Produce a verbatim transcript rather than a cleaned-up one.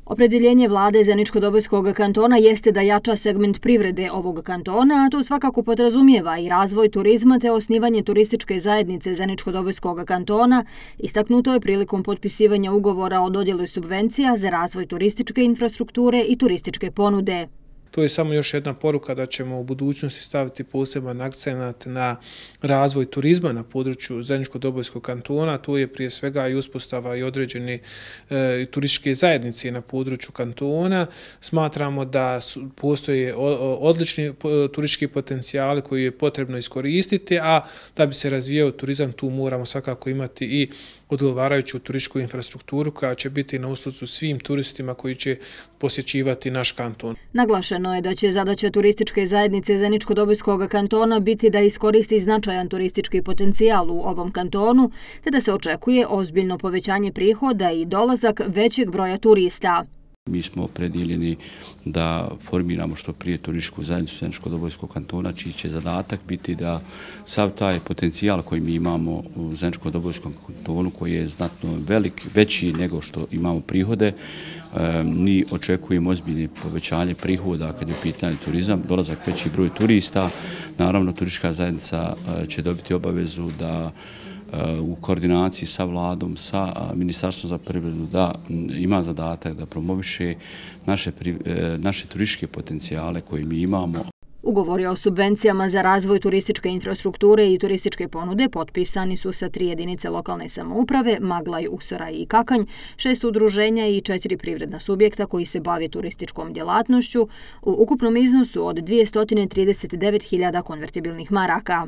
Opredjeljenje vlade Zeničko-Dobojskog kantona jeste da jača segment privrede ovog kantona, a to svakako podrazumijeva i razvoj turizma te osnivanje turističke zajednice Zeničko-Dobojskog kantona, istaknuto je prilikom potpisivanja ugovora o dodjeli subvencija za razvoj turističke infrastrukture i turističke ponude. To je samo još jedna poruka da ćemo u budućnosti staviti poseban akcenat na razvoj turizma na području Zeničko-Dobojskog kantona. To je prije svega i uspostava i određene e, turističke zajednice na području kantona. Smatramo da su, postoje odlični turistički potencijali koji je potrebno iskoristiti, a da bi se razvijao turizam tu moramo svakako imati i odgovarajuću turističku infrastrukturu koja će biti na uslugu svim turistima koji će posjećivati naš kanton. Naglašeno je da će zadaća turističke zajednice Zeničko-Dobojskog kantona biti da iskoristi značajan turistički potencijal u ovom kantonu, te da se očekuje ozbiljno povećanje prihoda i dolazak većeg broja turista. Mi smo opredjeljeni da formiramo što prije turističku zajednicu Zeničko-Dobojskog kantona, čiji će zadatak biti da sav taj potencijal koji mi imamo u Zeničko-Dobojskom kantonu, koji je znatno velik, veći nego što imamo prihode, mi očekujemo ozbiljne povećanje prihoda kad je u pitanju turizam, dolazak veći broj turista. Naravno, turistička zajednica će dobiti obavezu da u koordinaciji sa vladom, sa Ministarstvom za privredu, da ima zadatak da promoviše naše, naše turističke potencijale koje mi imamo. Ugovori o subvencijama za razvoj turističke infrastrukture i turističke ponude potpisani su sa tri jedinice lokalne samouprave, Maglaj, Usora i Kakanj, šest udruženja i četiri privredna subjekta koji se bave turističkom djelatnošću u ukupnom iznosu od dvjesto trideset devet hiljada konvertibilnih maraka.